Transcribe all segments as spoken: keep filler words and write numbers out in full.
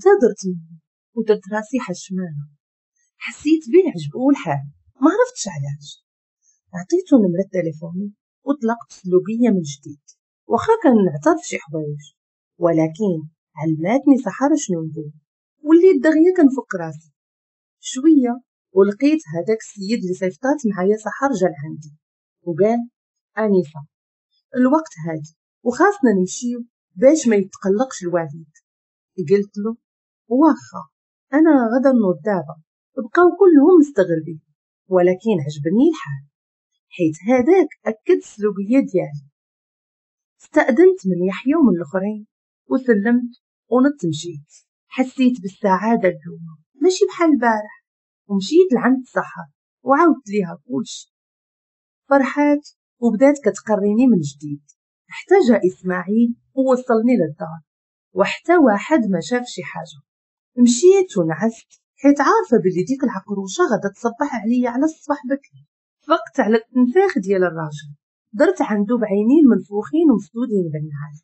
اعتذرت منه ودرت راسي حشمانه. حسيت به عجبو الحال، ما عرفتش علاش. عطيته نمرة تليفوني وطلقت سلوكية من جديد، واخا كنعترف شي حوايج، ولكن علماتني سحر شنو نقول. وليت دغيا كنفك راسي شوية، ولقيت هذاك السيد اللي صيفطات معايا سحر جا لعندي وقال انسه الوقت هادي وخاصنا نمشيو باش ما يتقلقش الوالد. قلت له واخا انا غدا نوض دابا. بقاو كلهم مستغربين، ولكن عجبني الحال حيت هذاك اكد السلوكية ديالي. استأذنت من يحيى ومن الاخرين وسلمت ونط مشيت. حسيت بالسعادة اليوم ماشي بحال البارح، ومشيت لعند السحر وعاودت ليها كلشي. فرحات وبدات كتقريني من جديد. حتى جا اسماعيل ووصلني للدار، وحتى واحد ما شاف شي حاجة. مشيت ونعست حيت عارفه بلي ديك العقروشه غادا تصبح عليا على الصباح بكري. فقت على التنفاخ ديال الراجل، درت عنده بعينين منفوخين ومسدودين بالنعاس.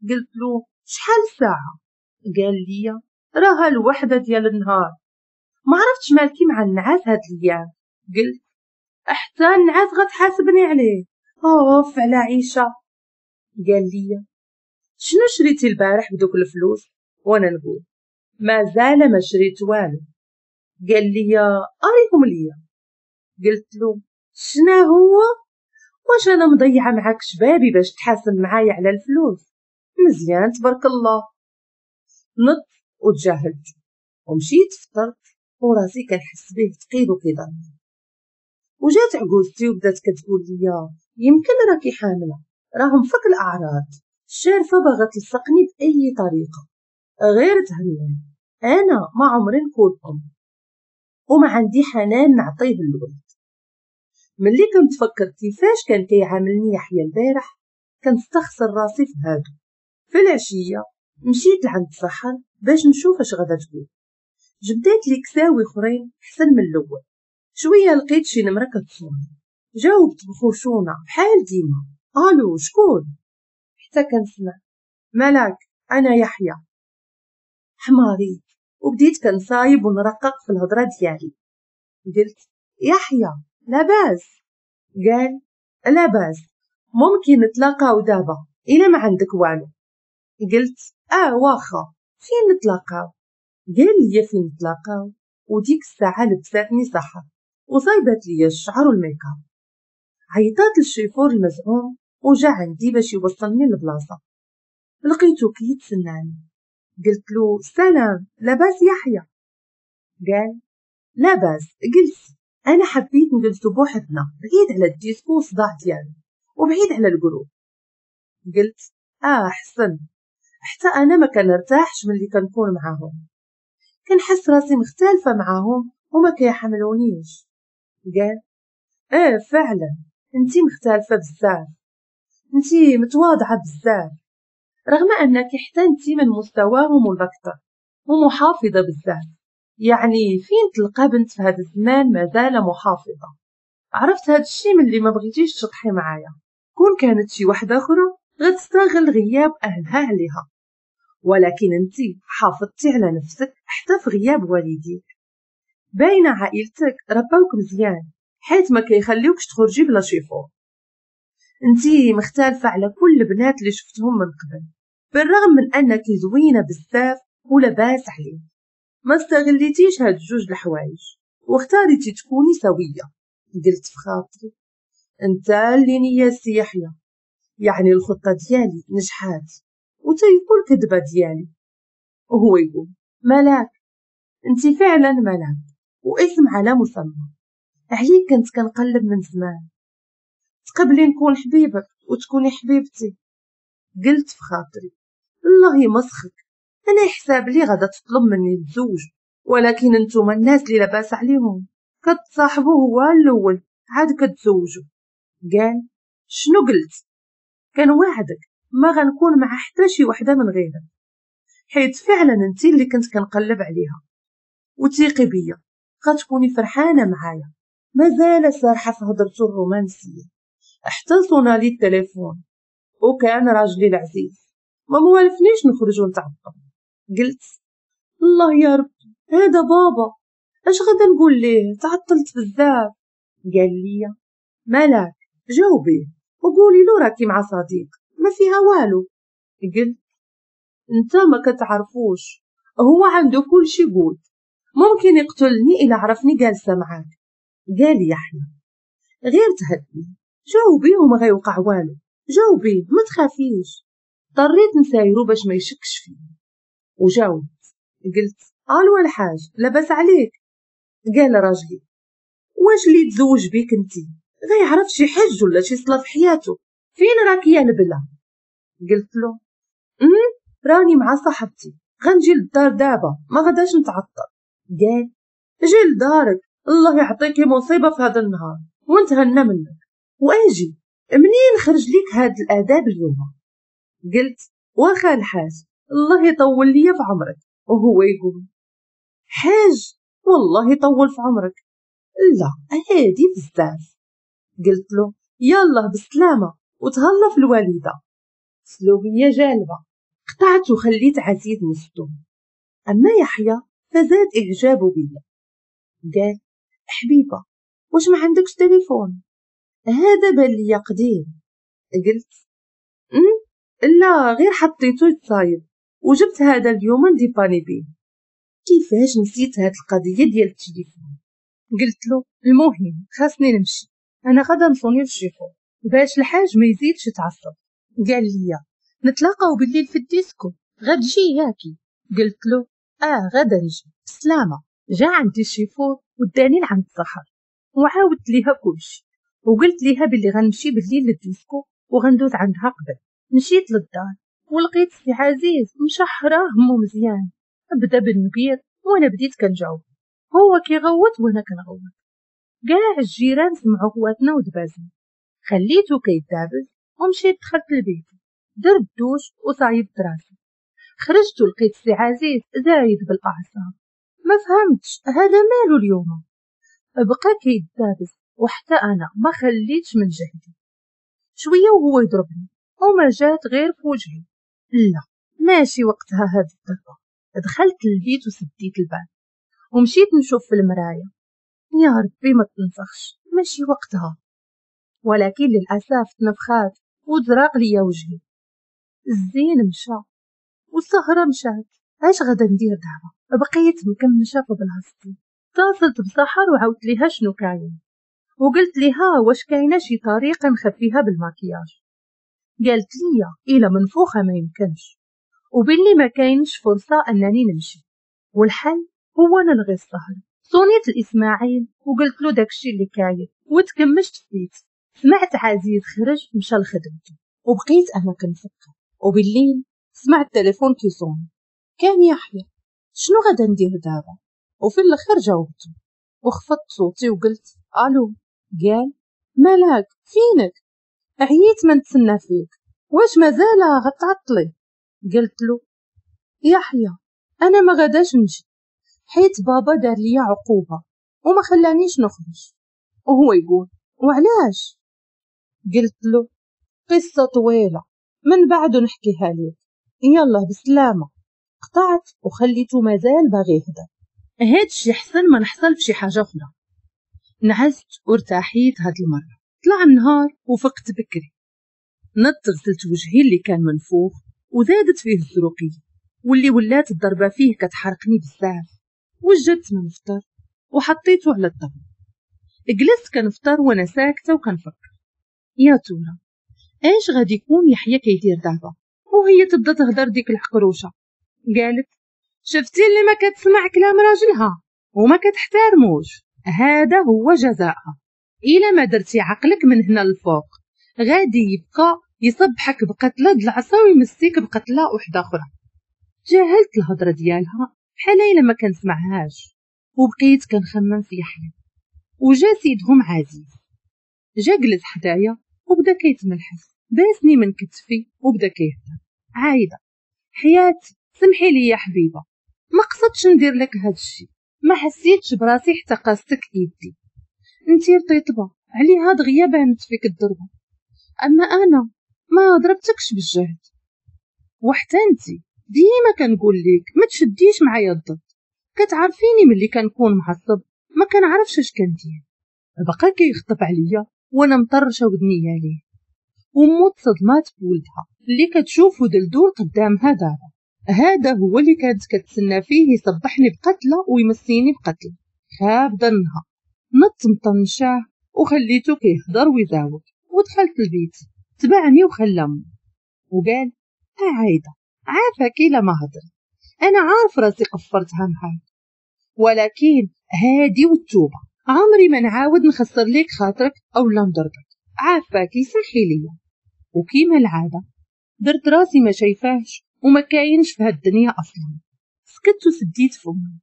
قلت له شحال الساعة؟ قال لي راها الوحدة ديال النهار. ما عرفتش مالكي مع النعاس هاد الايام. قلت حتى النعاس غتحاسبني عليه، اوف على عيشه. قال لي شنو شريتي البارح بدوك الفلوس؟ وانا نقول مازال ما شريت والو. قال لي اريهم ليا. قلت له شنو هو؟ واش انا مضيعة معاك شبابي باش تحاسب معايا على الفلوس؟ مزيان تبارك الله. نط وتجاهلت ومشيت فطرت وراسي كنحس به ثقيل وكيضرني. وجات عجوزتي وبدات كتقول لي يمكن راكي حامله، راهم فك الاعراض، الشارفه باغا تلصقني باي طريقه، غير تهني انا ما عمري نكون ام وما عندي حنان نعطيه للولد. ملي كنتفكر كيفاش كان كيعاملني يحيى البارح كنستخسر راسي في هادو. في العشية مشيت لعند سحر باش نشوف اش غادا تقول. جبدات لي كساوي اخرين احسن من الاول. شوية لقيت شي نمره كتصوني، جاوبت بخشونه بحال ديما الو شكون؟ حتى كنسمع ملاك انا يحيى. حماريت وبديت كنصايب ونرقق في الهضرة ديالي. قلت يحيى لاباس؟ قال لاباس، ممكن نتلاقاو دابا الا ما عندك والو. قلت اه واخا، فين نتلاقاو؟ قال لي فين نتلاقاو. وديك الساعة لبساتني سحر وصايبات لي الشعر والميكاب. عيطات للشيفور المزعوم وجا عندي باش يوصلني للبلاصه. لقيتو كيتسناني. قلت له سلام لاباس يحيى؟ قال لاباس. قلت انا حبيت نجلسو بوحدنا بعيد على الديسكو والصداع ديالو وبعيد على ال groupe. قلت اه احسن، حتى انا ما كنرتاحش ملي كنكون معاهم، كنحس راسي مختلفة معاهم وما كيحملونيش. قال اه فعلا انتي مختلفة بزاف، انتي متواضعة بزاف، رغم انك حتى انتي من مستواهم والاكثر، ومحافظة بزاف. يعني فين تلقى بنت في هذا الزمان مازال محافظة؟ عرفت هذا الشيء من اللي ما بغيتيش تشطحي معايا. كون كانت شي وحده اخرى غتستغل غياب اهلها عليها، ولكن انتي حافظتي على نفسك حتى في غياب والديك. باينة عائلتك رباوك مزيان حيت ما كيخليوكش تخرجي بلا شيفور. انتي مختلفة على كل البنات اللي شفتهم من قبل، بالرغم من انك زوينة بزاف ولاباس عليك. ما استغليتيش هاد جوج الحوايج واختاريتي تكوني سويه. قلت في خاطري انت اللي نياستي يحيى، يعني الخطة ديالي نجحات وتيقول كذبه ديالي. وهو يقول ملاك، انت فعلا ملاك واسم على مسمى، عليك كنت كنقلب من زمان، تقبلي نكون حبيبك وتكوني حبيبتي. قلت في خاطري الله يمسخك، انا يحساب لي غادا تطلب مني نتزوج، ولكن انتوما الناس اللي لاباس عليهم كتصاحبوا هو الاول عاد كتزوجوا. قال شنو قلت؟ كنوعدك ما غنكون مع حتى شي وحده من غيرك، حيت فعلا انت اللي كنت كنقلب عليها، وثيقي بيا غتكوني فرحانة معايا. مازال سارحه في هضرته الرومانسية حتى صونا لي التليفون، وكان راجلي العزيز ما موالفنيش نخرج ونتعطل. قلت الله يا ربي هذا بابا، اش غادا نقول ليه؟ تعطلت بزاف. قال لي ملاك جاوبيه وقولي له راكي مع صديق ما فيها والو. قلت انت ما كتعرفوش، هو عنده كل شي قول، ممكن يقتلني إلا عرفني جالسة معاك. قال يحيى غير تهدني، جاوبيه وما غيوقع والو، جاوبيه ما تخافيش. اضطريت نسايرو باش ما يشكش فيه وجاوبت. قلت الو الحاج لاباس عليك؟ قال راجلي واش اللي تزوج بيك انتي غيعرف شي حج ولا شي صلاة في حياته، فين راكي يا البلا؟ قلت له امم راني مع صاحبتي، غنجي للدار دابا ما غداش نتعطل. قال جي لدارك الله يعطيكي مصيبة في هذا النهار ونتهنى منك، واجي منين خرج لك هاد الاداب اليوم؟ قلت واخا الحاج الله يطول لي في عمرك. وهو يقول حاج والله يطول في عمرك، لا هادي بزاف. قلت له يلا بالسلامة وتهلا في الوالدة. سلوبيه جالبه. قطعت وخليت عزيز مصدوم. اما يحيى فزاد اعجابه بيا. قال حبيبه واش ما عندكش تليفون؟ هذا بان ليا قديم. قلت ام لا غير حطيته يتصايب وجبت هذا اليوم نديباني بيه. كيفاش نسيت هاد القضية ديال التليفون؟ قلت له المهم خاصني نمشي، انا غادا نصوني للشيفور باش الحاج ما يزيدش يتعصب. قال لي نتلاقاو بالليل في الديسكو، غتجي ياكي؟ قلت له اه غادا نجي بسلامه. جا عندي الشيفور وداني لعند السحر وعاودت ليها كلشي، وقلت ليها باللي غنمشي بالليل للديسكو وغندوز عندها قبل. مشيت للدار ولقيت سي عزيز مشحراه همو مزيان، بدا بالنبير وانا بديت كنجاوب، هو كيغوت وانا كنغوت، كاع الجيران سمعوا غواتنا ودبازنا. خليته كيدابز ومشيت دخلت البيت، درت دوش وصايبت راسي. خرجت ولقيت سي عزيز زايد بالاعصاب، ما فهمتش هذا مالو اليوم، بقى كيدابز وحتى انا ما خليتش من جهدي. شوية وهو يضربني وما جات غير في وجهي. لا ماشي وقتها هاد الضربة. دخلت للبيت وسديت الباب ومشيت نشوف في المراية، يا ربي ما تنفخش ماشي وقتها. ولكن للاسف تنفخات وتزراق ليا وجهي. الزين مشى والسهره مشات، اش غادا ندير دابا؟ بقيت مكمشه في بلاصتي. اتصلت بسحر وعاودت ليها شنو كاين، وقلت ليها واش كاينه شي طريقه نخفيها بالماكياج. قالت لي الا منفوخه ما يمكنش، وباللي ما كاينش فرصة انني نمشي، والحل هو نلغي السهر. صونيت الاسماعيل وقلت له داكشي اللي كاين وتكمشت في بيتي. سمعت عزيز خرج مشى لخدمته وبقيت انا كنفكر. وبالليل سمعت التليفون كيصون، كان يحيى. شنو غادا ندير دابا؟ وفي الاخر جاوبته وخفضت صوتي وقلت الو. قال ملاك فينك؟ عييت ما نتسنى فيك، واش مازال غتعطلي؟ قلت له يحيى انا ما غاداش نجي حيت بابا دار ليا عقوبه وما خلانيش نخرج. وهو يقول وعلاش؟ قلت له قصة طويلة من بعد نحكيها لك، يلا بسلامه. قطعت وخليته مازال باغي يهدر. هادشي حسن ما نحصل بشي حاجة اخرى. نعست وارتاحيت هاد المرة. طلع النهار وفقت بكري، نط غسلت وجهي اللي كان منفوخ وزادت فيه الزروقيه واللي ولات الضربة فيه كتحرقني بزاف. وجدت من فطر وحطيته على الطبلة. جلست كنفطر وانا ساكته وكنفكر، يا ترى اش غادي يكون يحيى كيدير دابا؟ وهي تبدا تهضر ديك الحقروشه. قالت شفتي اللي ما كتسمع كلام راجلها وما كتحترموش، هذا هو جزاءها. الا ما درتي عقلك من هنا للفوق غادي يبقى يصبحك بقتله د العصا ويمسيك بقتله وحده اخرى. جاهلت الهضرة ديالها بحال الا ما كنسمعهاش، وبقيت كنخمم في يحيى. وجا سيدهم عزيز، جا جلس حدايا وبدا كيتملحس، باسني من كتفي وبدا كيهضر. عايدة حياتي سمحي لي يا حبيبه، ما قصدتش ندير لك هاد الشيء، ما حسيتش براسي حتى قاستك ايدي، انتي رطيطبه عليها دغيا بانت فيك الضربة، اما انا ما ضربتكش بالجهد، وحتى انتي ديما كنقول لك ما تشديش معايا الضد، كتعرفيني ملي كنكون معصب ما كنعرفش اش كندير. بقى كيخطب عليا وانا مطرشه ودنيا ليه، ومو تصدمات بولدها اللي كتشوفو دلدول قدامها دابا. هذا هو اللي كانت كتسنى فيه يصبحني بقتله ويمسيني بقتله. خاب ظنها. نط مطنشاه وخليته كيهضر ويزاوج، ودخلت البيت. تبعني وخلى امي وقال ها عايدة عافاك الا ما هضرت، انا عارف راسي قفرتها معاك، ولكن هادي والتوبة عمري ما نعاود نخسر ليك خاطرك او لا نضربك، عافاك سمحي ليا. وكيما العادة درت راسي ما شايفاهش وما كاينش في هاد الدنيا اصلا. سكت وسديت فمي،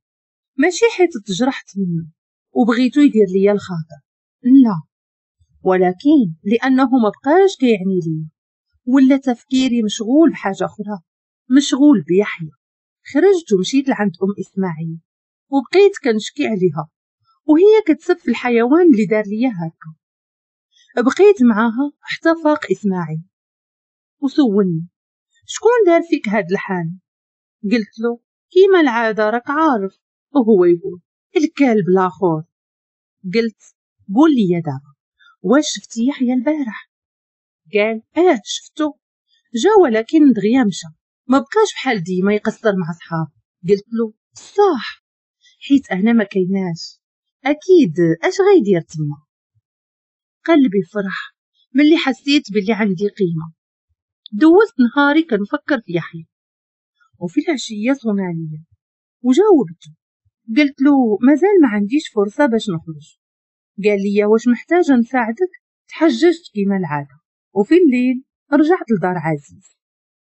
ماشي حيت تجرحت منه وبغيتو يدير ليا الخاطر، لا، ولكن لانه ما بقاش كيعني لي، ولا تفكيري مشغول بحاجة اخرى، مشغول بيحيى. خرجت ومشيت لعند ام اسماعيل وبقيت كنشكي عليها وهي كتسب في الحيوان اللي دار ليا هكا. بقيت معاها حتى فاق اسماعيل وسولني شكون دار فيك هاد الحال؟ قلت له كيما العادة راك عارف، وهو يقول الكلب الاخر. قلت قول لي يا دابا واش شفتي يحيى البارح؟ قال اه شفتو، جا ولكن دغيا مشى، ما بقاش بحال ديما يقصر مع صحابه. قلت له صح، حيت انا ما كايناش، اكيد اش غيدير تما. قلبي فرح ملي حسيت باللي عندي قيمة. دوزت نهاري كنفكر في يحيى، وفي العشية صونا عليا وجاوبته. قلت له مازال ما عنديش فرصة باش نخرج. قال لي واش محتاجه نساعدك؟ تحججت كيما العادة. وفي الليل رجعت لدار عزيز،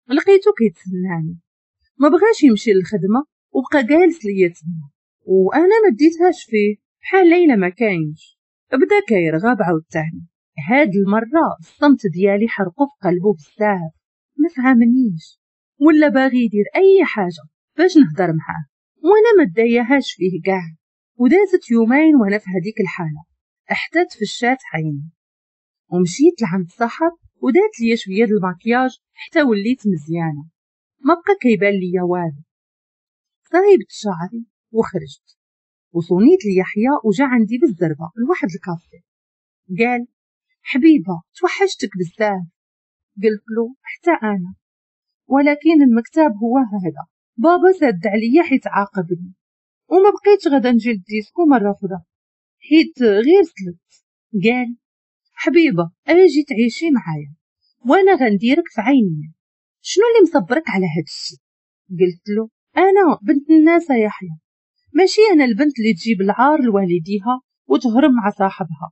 لقيته كيتسناني، ما بغاش يمشي للخدمة وبقى جالس ليا تما، وانا ما ديتهاش فيه بحال ليلى ما كاينش. بدا كيرغب عاوتاني. هاد المرة الصمت ديالي حرقو في قلبو بزاف، ما فهمنيش ولا باغي يدير اي حاجة باش نهضر معاه، وانا ما داياهاش فيه كاع. ودازت يومين وانا في هذيك الحالة، حتى تفشات عيني ومشيت لعند صاحب ودات ليا شوية د الماكياج حتى وليت مزيانه، ما بقى كيبان ليا والو. صايبت شعري وخرجت وصونيت ليحيى وجا عندي بالزربه لواحد الكافي. قال حبيبه توحشتك بزاف. قلت له حتى انا، ولكن المكتب هو هذا، بابا سد عليا حيت عاقبني وما بقيتش غادا نجي للديسكو مرة اخرى حيت غير سلت. قال حبيبه اجي تعيشي معايا وانا غنديرك في عيني، شنو اللي مصبرك على هاد الشيء؟ قلت له انا بنت الناس يا يحيى، ماشي انا البنت اللي تجيب العار لوالديها وتهرب مع صاحبها.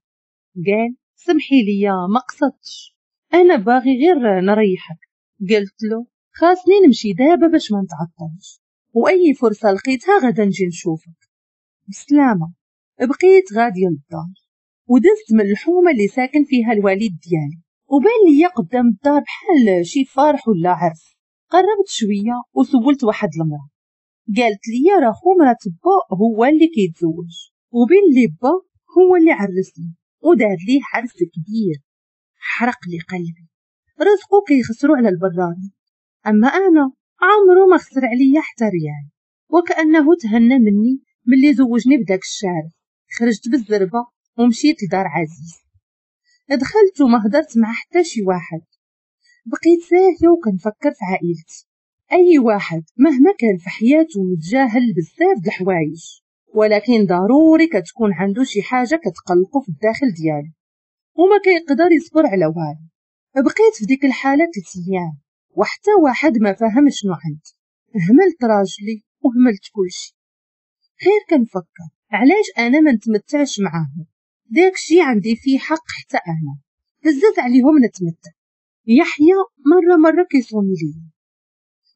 قال سمحي لي ما قصدتش، انا باغي غير نريحك. قلت له خاصني نمشي دابا باش ما نتعطلش، واي فرصة لقيتها غادا نجي نشوفك. بسلامه. بقيت غادية للدار ودزت من الحومه اللي ساكن فيها الوالد ديالي، وبان ليا قدام الدار بحال شي فرح ولا عرس. قربت شوية وسولت واحد المراة، قالت لي راه خو مرات با هو اللي كيتزوج، وبين لي با هو اللي عرسني ودار ليه عرس كبير. حرق لي قلبي، رزقو كيخسرو على البراني، اما انا عمرو ما خسر عليا حتى ريال، وكانه تهنى مني ملي زوجني بداك الشارع. خرجت بالزربه ومشيت لدار عزيز، دخلت وما هدرت مع حتى شي واحد، بقيت ساهيه وكنفكر في عائلتي. اي واحد مهما كان في حياته متجاهل بزاف د الحوايج، ولكن ضروري كتكون عنده شي حاجة كتقلقو في الداخل ديالو وما كيقدر يصبر على والو. بقيت في ديك الحالة ثلاث ايام وحتى واحد ما فهم شنو عندي. هملت راجلي وهملت كلشي، غير كنفكر علاش انا ما نتمتعش معاهم، داكشي عندي فيه حق حتى انا، بزاف عليهم نتمتع. يحيى مرة مرة كيصوني ليا،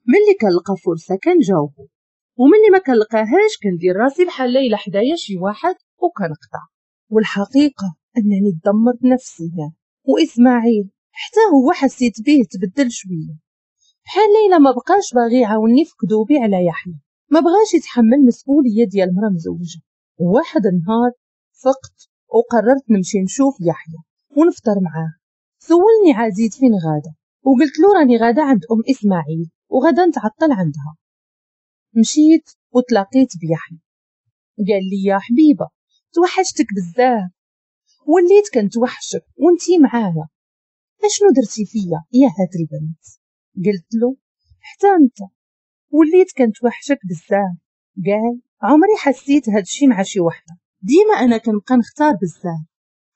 ملي كنلقى فرصة كنجاوبو، وملي ما كنلقاهاش كندير راسي بحال ليلى حدايا شي واحد وكنقطع. والحقيقة انني دمرت نفسيا، واسماعيل حتى هو حسيت به تبدل شوية، بحال ليلى ما بقاش باغي يعاوني في كذوبي على يحيى، ما بغاش يتحمل مسؤولية ديال مرا مزوجه. وواحد النهار فقت وقررت نمشي نشوف يحيى ونفطر معاه. سولني عزيز فين غاده، وقلت له راني غاده عند ام اسماعيل وغدا نتعطل عندها. مشيت وتلاقيت بيحيى. قال لي يا حبيبه توحشتك بزاف، وليت كنتوحشك وانتي معايا، اشنو درتي فيا يا هاد البنت؟ قلت له حتى انت وليت كنتوحشك بزاف. قال عمري حسيت هادشي مع شي وحده، ديما انا كنبقى نختار بزاف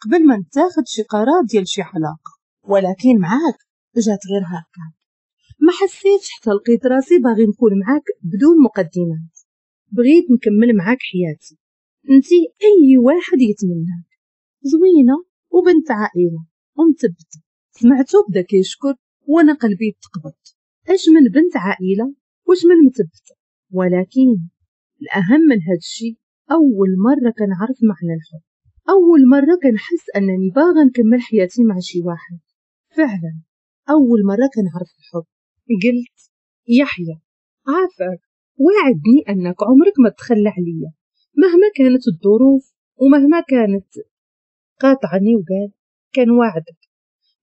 قبل ما نتاخد شي قرار ديال شي علاقة، ولكن معاك جات غير هكا. ما حسيتش حتى لقيت راسي باغي نكون معاك بدون مقدمات، بغيت نكمل معاك حياتي، انتي اي واحد يتمناك، زوينة وبنت عائلة ومثبته. سمعتو بدا كيشكر وانا قلبي تقبض، اش من بنت عائلة واش من مثبتة. ولكن الاهم من هادشي اول مرة كنعرف معنى الحب، اول مرة كنحس انني باغا نكمل حياتي مع شي واحد. فعلا اول مرة كنعرف الحب. قلت يحيى عافاك وعدني انك عمرك ما تخلى عليا مهما كانت الظروف ومهما كانت. قاطعني وقال كان وعدك،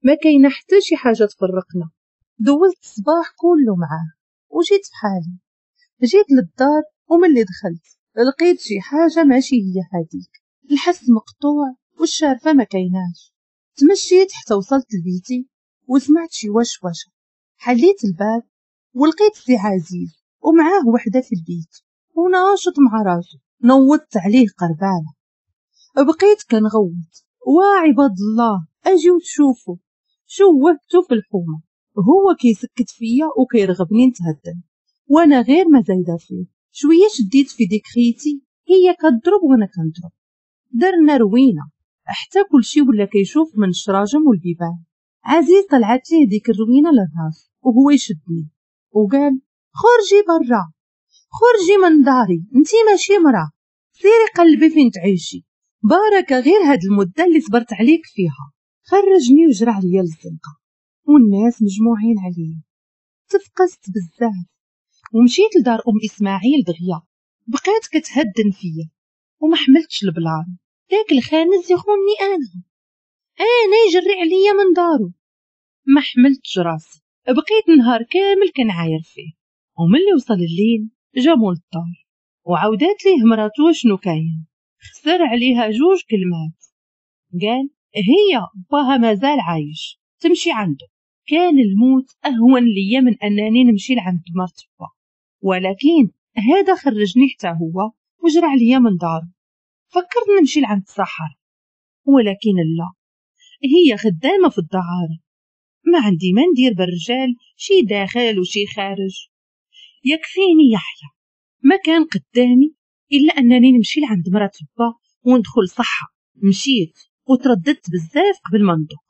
ما كاينه حتى شي حاجة تفرقنا. دوزت الصباح كله معاه وجيت بحالي. جيت للدار وملي دخلت لقيت شي حاجة ماشي هي هذيك، الحس مقطوع والشارفه ما كايناش. تمشيت حتى وصلت لبيتي وسمعت شي وشوشه. حليت الباب ولقيت سي عزيز ومعاه وحده في البيت وناشط مع راسو. نوضت عليه قربانه، بقيت كنغوت وعباد الله اجيو تشوفوا، شوهتو في الحومه. هو كيسكت فيا وكيرغبني نتهدن وانا غير ما زايدة فيه. شوية شديت في ديك خيتي، هي كتضرب وانا كنضرب، درنا روينه حتى كلشي ولا كيشوف من الشراجم والبيبان. عزيز طلعت ليه ديك الروينه للراس وهو يشدني وقال خرجي برا، خرجي من داري، انتي ماشي مرا، سيري قلبي فين تعيشي، باركه غير هاد المدة اللي صبرت عليك فيها. خرجني وجرى عليا للزنقه والناس مجموعين عليا. تفقست بزاف ومشيت لدار ام اسماعيل دغيا، بقيت كتهدن فيا وما حملتش ال plan. داك الخانز يخوني انا، انا يجري عليا من دارو. ما حملتش راسي، بقيت نهار كامل كنعاير فيه. وملي وصل الليل جا مول الدار وعاودات ليه مراتو شنو كاين. خسر عليها جوج كلمات، قال هي باها مازال عايش تمشي عنده. كان الموت اهون ليا من انني نمشي لعند مرت با، ولكن هذا خرجني حتى هو وجرى عليا من دارو. فكرت نمشي لعند السحر، ولكن لا، هي خدامه في الدعاره، ما عندي ما ندير بالرجال، شي داخل وشي خارج. يكفيني يحيى، ما كان قدامي الا انني نمشي لعند مرات با وندخل صحة. مشيت وترددت بزاف قبل ما ندق،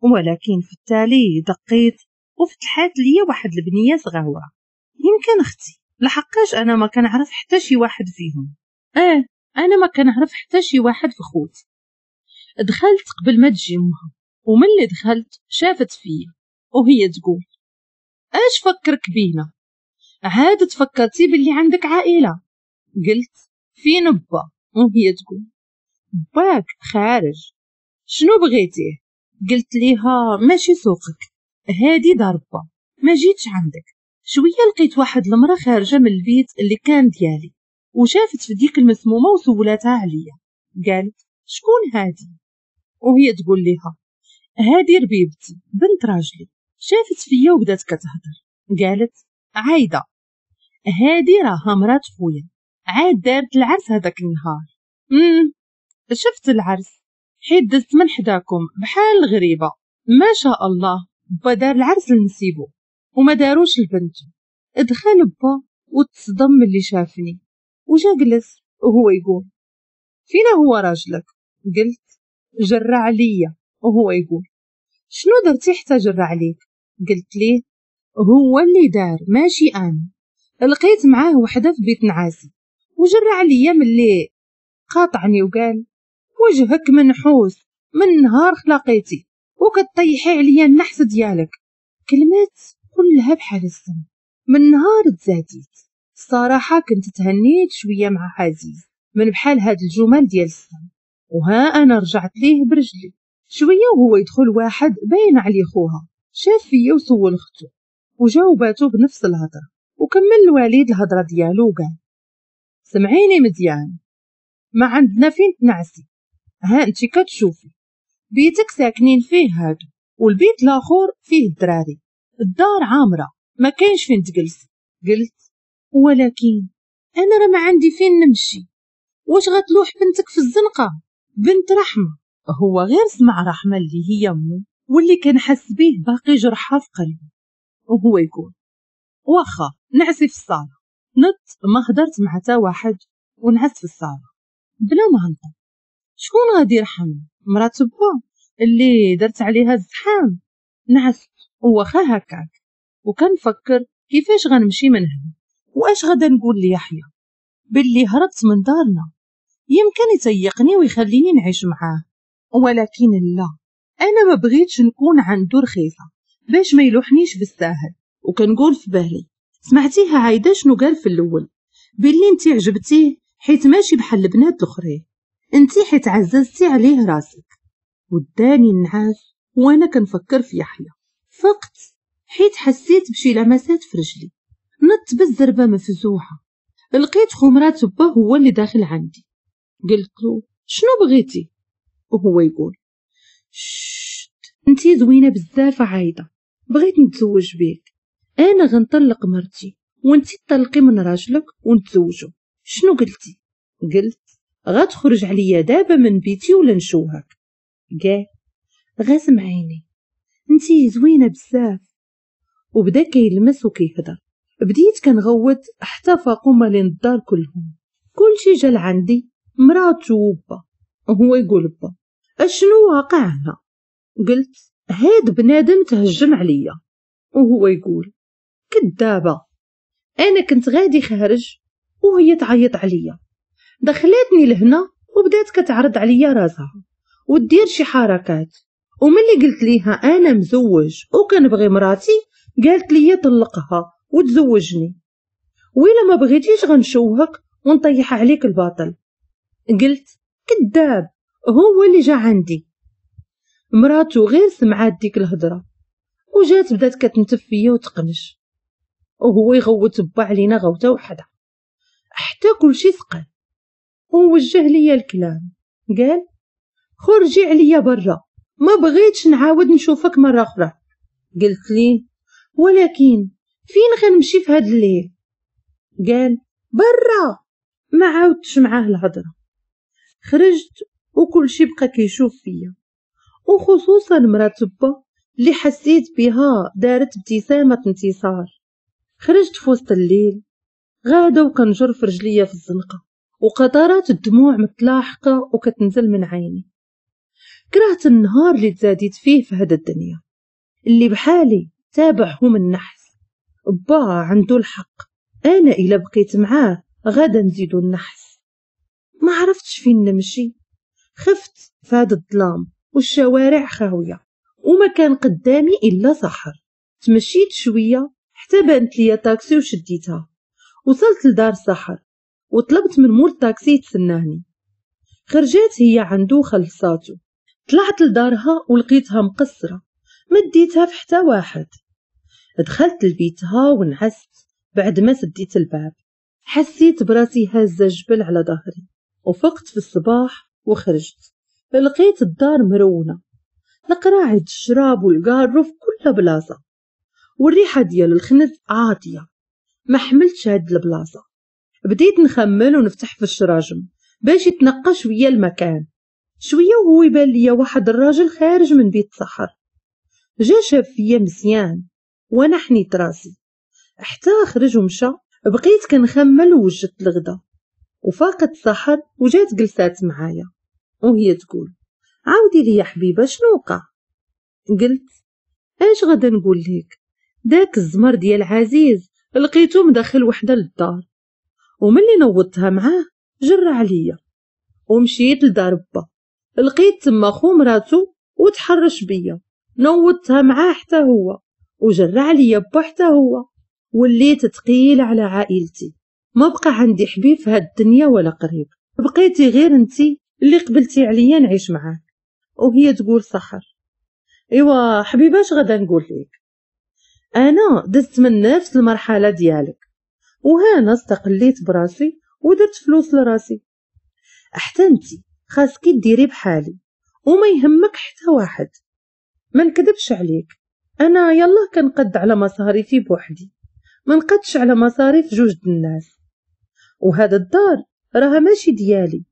ولكن في التالي دقيت وفتحات ليا واحد البنية صغيرة، يمكن اختي، لحقاش انا ما كنعرف حتى شي واحد فيهم. اه انا ما كنعرف حتى شي واحد في خوتي. دخلت قبل ما تجي امها، وملي دخلت شافت فيا وهي تقول اش فكرك بينا؟ عاد تفكرتي باللي عندك عائلة؟ قلت فين با؟ وهي تقول باك خارج، شنو بغيتيه؟ قلت ليها ماشي سوقك، هادي دار با، ما جيتش عندك. شوية لقيت واحد المراة خارجه من البيت اللي كان ديالي، وشافت في ديك المسمومه وسولاتها عليا. قالت شكون هادي؟ وهي تقول ليها هادي ربيبتي بنت راجلي. شافت فيا وبدات كتهضر، قالت عايدة هادي راها مرات خويا، عاد دارت العرس هذاك النهار. امم شفت العرس حيت دزت من حداكم بحال الغريبة، ما شاء الله با دار العرس لنسيبو وما داروش لبنتو. دخل با وتصدم من اللي شافني وجا جلس وهو يقول فينا هو راجلك؟ قلت جرى عليا. وهو يقول شنو درتي حتى جرى عليك؟ قلت ليه هو اللي دار ماشي انا، لقيت معاه وحده في بيت نعاسي وجرى عليا. ملي قاطعني وقال وجهك منحوس من نهار خلاقيتي وكطيحي عليا النحس ديالك. كلمات كلها بحال السم. من نهار تزاديت الصراحة كنت تهنيت شوية مع عزيز من بحال هاد الجمل ديال السم، وها انا رجعت ليه برجلي. شوية وهو يدخل واحد باين عليه خوها، شاف فيا وسول اختو وجاوباتو بنفس الهضرة. وكمل الوالد الهضرة ديالو وقال سمعيني مزيان، ما عندنا فين تنعسي، ها انت كتشوفي بيتك ساكنين فيه هادو، والبيت الاخر فيه الدراري، الدار عامرة ما كاينش فين تجلسي. قلت ولكن انا راه ما عندي فين نمشي، واش غتلوح بنتك في الزنقة؟ بنت رحمه. هو غير سمع رحمه اللي هي امه واللي كنحس به باقي جرحها في قلبه، وهو يقول واخا نعسي في الصاله. نط ما هدرت مع تا واحد ونعست في الصاله بلا ما هنطق. شكون غادي يرحم مرات با اللي درت عليها الزحام؟ نعست واخا هكاك، وكنفكر كيفاش غنمشي من هنا، واش غادا نقول ليحيى باللي هربت من دارنا، يمكن يتيقني ويخليني نعيش معاه، ولكن لا، انا ما بغيتش نكون عنده رخيصة باش ما يلوحنيش بالساهل. وكنقول في بالي سمعتيها عايدة شنو قال في الاول، باللي انت عجبتيه حيت ماشي بحال البنات الاخرين، انت حيت عززتي عليه راسك. وداني النعاس وانا كنفكر في يحيى. فقت حيت حسيت بشي لمسات في رجلي، نط بالزربه مفزوحه، لقيت خمرات با هو اللي داخل عندي. قلت له شنو بغيتي؟ وهو يقول شت انتي زوينة بزاف عايدة، بغيت نتزوج بيك، انا غنطلق مرتي وانتي تطلقي من راجلك ونتزوجوا. شنو قلتي؟ قلت غتخرج عليا دابا من بيتي ولا نشوهك. قال غاسم عيني انتي زوينة بزاف. وبدا كيلمس وكيهضر. بديت كنغوت حتى فاقوا مالين الدار كلهم، كلشي جا لعندي، مراتو وبا. وهو يقول با اشنو واقع هنا؟ قلت هاد بنادم تهجم عليا. وهو يقول كدابه، انا كنت غادي خارج وهي تعيط عليا، دخلتني لهنا وبدات كتعرض عليا راسها ودير شي حركات، وملي قلت ليها انا مزوج وكنبغي مراتي قالت لي طلقها وتزوجني، وإلا ما بغيتيش غنشوهك ونطيح عليك الباطل. قلت كذاب، هو اللي جا عندي. مراتو غير سمعات ديك الهضرة وجات بدات كتنتف فيا وتقنش، وهو يغوت با علينا غوته وحده حتى كلشي ثقل، ووجه ليا الكلام قال خرجي عليا برا، ما بغيتش نعاود نشوفك مرة اخرى. قلت ليه ولكن فين غنمشي في هاد الليل؟ قال برا. ما عاودتش معاه الهضرة، خرجت وكلشي بقى كيشوف فيا، وخصوصا مرات با اللي حسيت بها دارت ابتسامة انتصار. خرجت في وسط الليل غاده وكنجر في رجليا في الزنقة، وقطرات الدموع متلاحقه وكتنزل من عيني. كرهت النهار اللي تزاديت فيه في هذا الدنيا اللي بحالي تابعهم النحس. با عنده الحق، انا الا بقيت معاه غادا نزيدو النحس. ما عرفتش فين نمشي، خفت في هذا الظلام والشوارع خاوية وما كان قدامي الا سحر. تمشيت شوية حتى بانت ليا طاكسي وشديتها، وصلت لدار سحر وطلبت من مول الطاكسي يتسناني. خرجت هي عنده وخلصاتو. طلعت لدارها ولقيتها مقصرة، مديتها في حتى واحد. دخلت لبيتها ونعست بعد ما سديت الباب. حسيت براسي هازه جبل على ظهري، وفقت في الصباح وخرجت. لقيت الدار مرونة، القراعي الشراب والقارو في كل بلاصة، والريحه ديال الخنز عاطيه. ما حملتش هاد البلاصة، بديت نخمل ونفتح في الشراجم باش يتنقى شوية المكان. شوية وهو يبان ليا واحد الراجل خارج من بيت سحر. جا شاف فيا مزيان وانا حنيت راسي حتى خرج ومشى. بقيت كنخمل ووجدت الغدا، وفاقت سحر وجات جلسات معايا وهي تقول عاودي لي يا حبيبه شنو وقع. قلت اش غادا نقول لك، داك الزمر ديال عزيز لقيتو مدخل وحده للدار، وملي نوضتها معاه جرى عليا ومشيت لدار با، لقيت تما خو مراتو وتحرش بيا، نوضتها معاه حتى هو وجرى عليا با حتى هو. وليت ثقيلة على عائلتي، ما بقى عندي حبيب في هاد الدنيا ولا قريب، بقيتي غير انتي اللي قبلتي عليا نعيش معاك. وهي تقول سحر ايوا حبيبه اش غادا نقول لك، انا دزت من نفس المرحلة ديالك، وهانا استقليت براسي ودرت فلوس لراسي. حتى انتي خاصكي ديري بحالي وما يهمك حتى واحد. ما نكذبش عليك، انا يلا كنقد على مصاريفي بوحدي، ما نقدش على مصاريف جوج د الناس. وهذا الدار راها ماشي ديالي،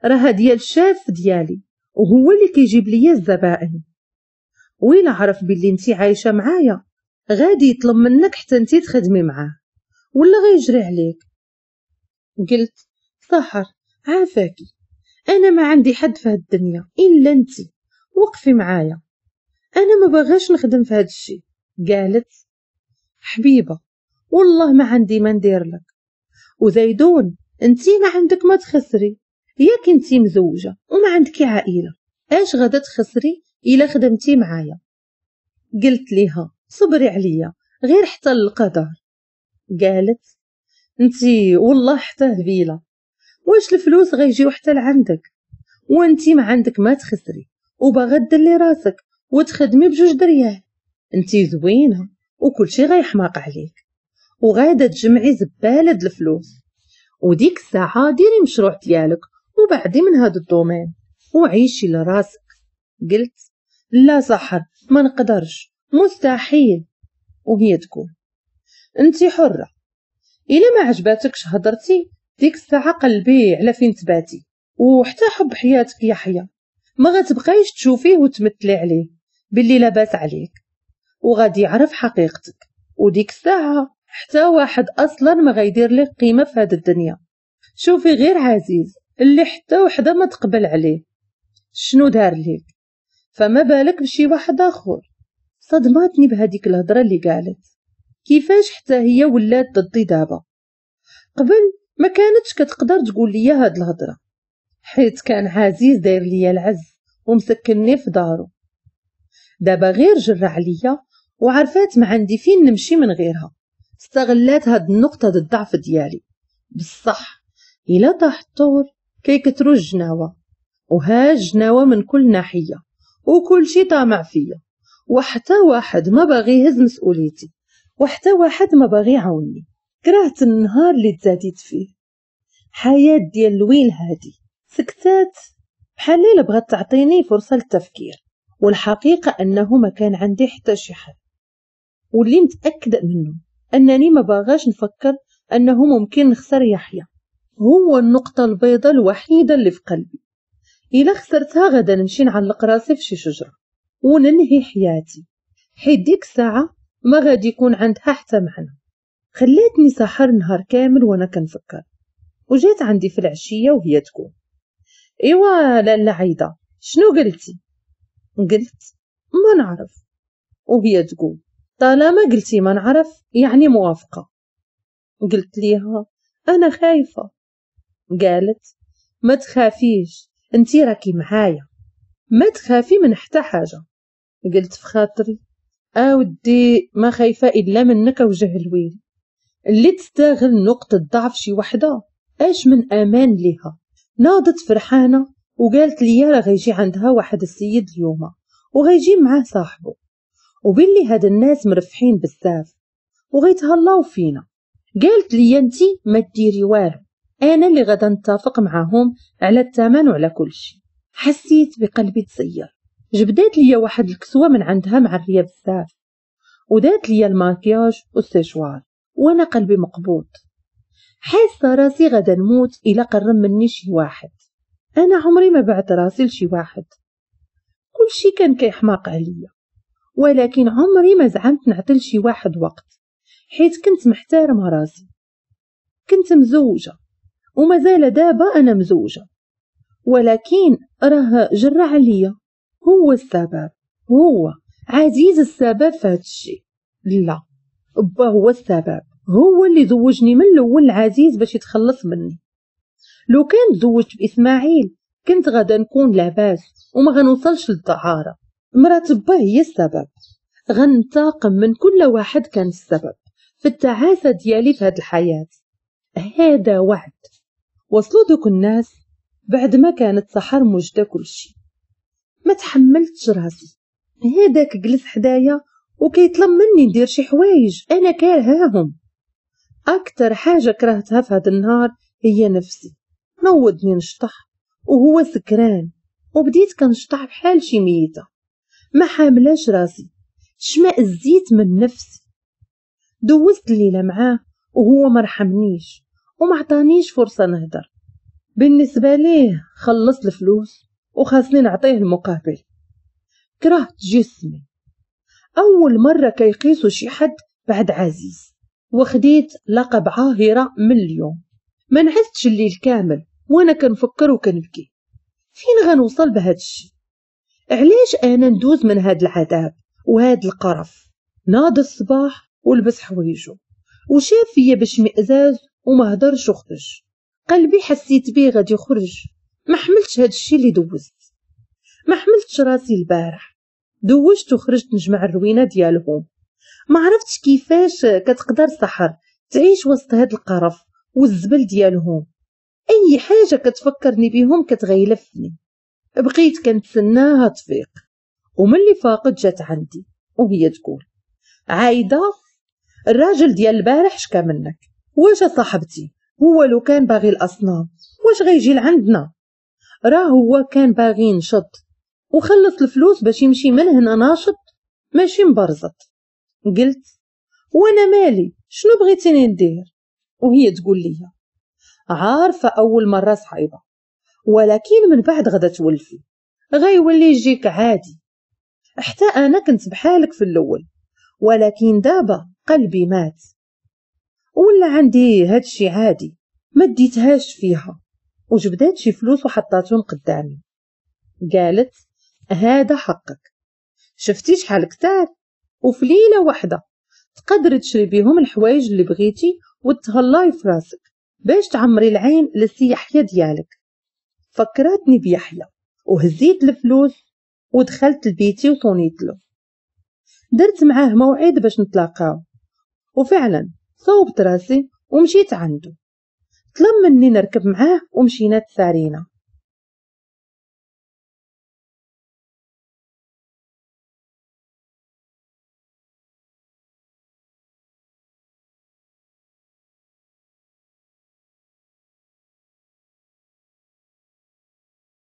راها ديال الشاف ديالي، وهو اللي كيجيب ليا الزبائن. وإلا عرف باللي انتي عايشه معايا غادي يطلب منك حتى انتي تخدمي معاه، ولا غيجري عليك. قلت سحر عافاكي، انا ما عندي حد في هاد الدنيا الا انتي، وقفي معايا، انا ما باغاش نخدم في هاد الشيء. قالت حبيبه والله ما عندي ما ندير لك، وزيدون انتي ما عندك ما تخسري، ياك انتي مزوجه وما عندك عائلة، اش غادا تخسري الا خدمتي معايا؟ قلت ليها صبري عليا غير حتى القدر. قالت انتي والله حتى هبيله، واش الفلوس غيجيو حتى لعندك وانتي ما عندك ما تخسري، وباغا دلي راسك وتخدمي بجوج دريال، انتي زوينة وكلشي غيحماق عليك، وغادا تجمعي زبالة د الفلوس، وديك الساعة ديري مشروع ديالك وبعدي من هذا ال domaine وعيشي لراسك. قلت لا سحر ما نقدرش، مستحيل. وهي تقول انتي حره، الا ما عجباتكش هضرتي ديك الساعة قلبي على فين تباتي، وحتى حب حياتك يحيى ما غتبقايش تشوفيه وتمثلي عليه باللي لاباس عليك، وغادي يعرف حقيقتك، وديك الساعة حتى واحد اصلا ما غيدير لك قيمة في هذه الدنيا. شوفي غير عزيز اللي حتى وحده ما تقبل عليه شنو دار ليك، فما بالك بشي واحد اخر. صدماتني بهذيك الهضرة اللي قالت، كيفاش حتى هي ولات ضدي دابا؟ قبل ما كانتش كتقدر تقول لي هاد الهضرة، حيت كان عزيز داير ليا العز ومسكنني في دارو. دابا غير جرى عليا وعرفات ما عندي فين نمشي من غيرها، استغلات هاد النقطة الضعف ديالي. بصح الا طاح الطور كيكثروا الجناوه، وها الجناوه من كل ناحية، وكل شي طامع فيا، وحتى واحد ما باغي يهز مسؤوليتي، وحتى واحد ما باغي يعاونني. كرهت النهار اللي تزاديت فيه، حياة ديال الويل هادي. سكتات بحال الا بغات تعطيني فرصة للتفكير، والحقيقة انه ما كان عندي حتى شي حل، واللي متاكدة منه انني ما باغاش نفكر انه ممكن نخسر يحيى، هو النقطة البيضاء الوحيدة اللي في قلبي. الا خسرتها غدا نمشي نعلق راسي في شي شجرة وننهي حياتي، حيت ديك الساعة ما غادي يكون عندها حتى معنى. خلاتني سحر نهار كامل وانا كنفكر، وجات عندي في العشية وهي تقول ايوا لاله عايدة شنو قلتي؟ قلت ما نعرف. وهي تقول طالما قلتي ما نعرف يعني موافقة. قلت ليها انا خايفة. قالت ما تخافيش انتي راكي معايا، ما تخافي من حتى حاجة. قلت في خاطري اودي ما خايفة الا منك وجه الويل اللي تستغل نقطة ضعف شي وحده، اش من امان ليها. ناضت فرحانة وقالت لي راه غيجي عندها واحد السيد اليوم وغيجي معاه صاحبه، وباللي هاد الناس مرفحين بزاف وغيتهلاو فينا. قالت لي انتي ما ديري والو، انا اللي غادا نتفق معاهم على الثمن وعلى كل شيء. حسيت بقلبي تسير. جبدات لي واحد الكسوة من عندها معريه بزاف، ودات لي الماكياج والسيشوار، وانا قلبي مقبوض، حاسه راسي غادا نموت الا قرب مني شي واحد. انا عمري ما بعت راسي لشي واحد، كل شي كان كيحماق عليا، ولكن عمري ما زعمت نعطي لشي واحد وقت، حيت كنت محترمه راسي. كنت مزوجه ومازال دابا انا مزوجه، ولكن راه جرى عليا، هو السبب، هو عزيز السبب في هذا الشيء. لا با هو السبب، هو اللي زوجني من الاول العزيز باش يتخلص مني. لو كان تزوجت باسماعيل كنت غادا نكون لاباس وما غنوصلش للدعاره. مرات با هي السبب، غنتاقم من كل واحد كان السبب في التعاسة ديالي في هاد الحياة. هذا وعد. وصلوا دوك الناس بعد ما كانت سحر موجده كلشي. ما تحملتش راسي، هذاك جلس حدايا وكيطلب مني ندير شي حوايج انا كارهاهم. اكثر حاجة كرهتها في هذا النهار هي نفسي. نوضني نشطح وهو سكران، وبديت كنشطح بحال شي ميته، ما حاملاش راسي، شماء الزيت من نفسي. دوزت الليلة معاه وهو ما رحمنيش وما عطانيش فرصة نهدر. بالنسبة ليه خلصت الفلوس وخاصني نعطيه المقابل. كرهت جسمي. اول مرة كيقيسو شي حد بعد عزيز، وخديت لقب عاهره من اليوم. ما نعستش الليل كامل وانا كنفكر وكنبكي، فين غنوصل بهاد الشي؟ علاش انا ندوز من هاد العذاب وهاد القرف؟ ناض الصباح ولبس حوايجو وشاف فيا باشمئزاز وما هدرش وخرج. قلبي حسيت بيه غادي يخرج. ما حملتش هاد الشي اللي دوزت، ما حملتش راسي البارح. دوزت وخرجت نجمع الروينه ديالهم. ما عرفتش كيفاش كتقدر سحر تعيش وسط هاد القرف والزبل ديالهم. اي حاجة كتفكرني بيهم كتغيلفني. بقيت كنتسناها تفيق، وملي فاقت جات عندي وهي تقول عايدة الراجل ديال البارح شكا منك. واش صاحبتي هو لو كان باغي الاصنام واش غيجي لعندنا؟ راه هو كان باغي ينشط وخلص الفلوس باش يمشي من هنا ناشط ماشي مبرزط. قلت وانا مالي، شنو بغيتيني ندير؟ وهي تقول لي عارفه اول مرة صعيبة، ولكن من بعد غدا تولفي، غيولي يجيك عادي. حتى انا كنت بحالك في الاول، ولكن دابا قلبي مات ولا عندي هادشي عادي. ما ديتهاش فيها وجبدات شي فلوس وحطاتهم قدامي. قالت هذا حقك، شفتي شحال كتار، وفي ليلة واحدة تقدري تشري بيهم الحوايج اللي بغيتي وتهلاي في راسك باش تعمري العين للسي يحيى ديالك. فكرتني بيحيى وهزيت الفلوس ودخلت لبيتي وصونيت له. درت معاه موعد باش نتلاقاو، وفعلا صوبت راسي ومشيت عنده. طلب مني نركب معاه ومشينا تسارينا.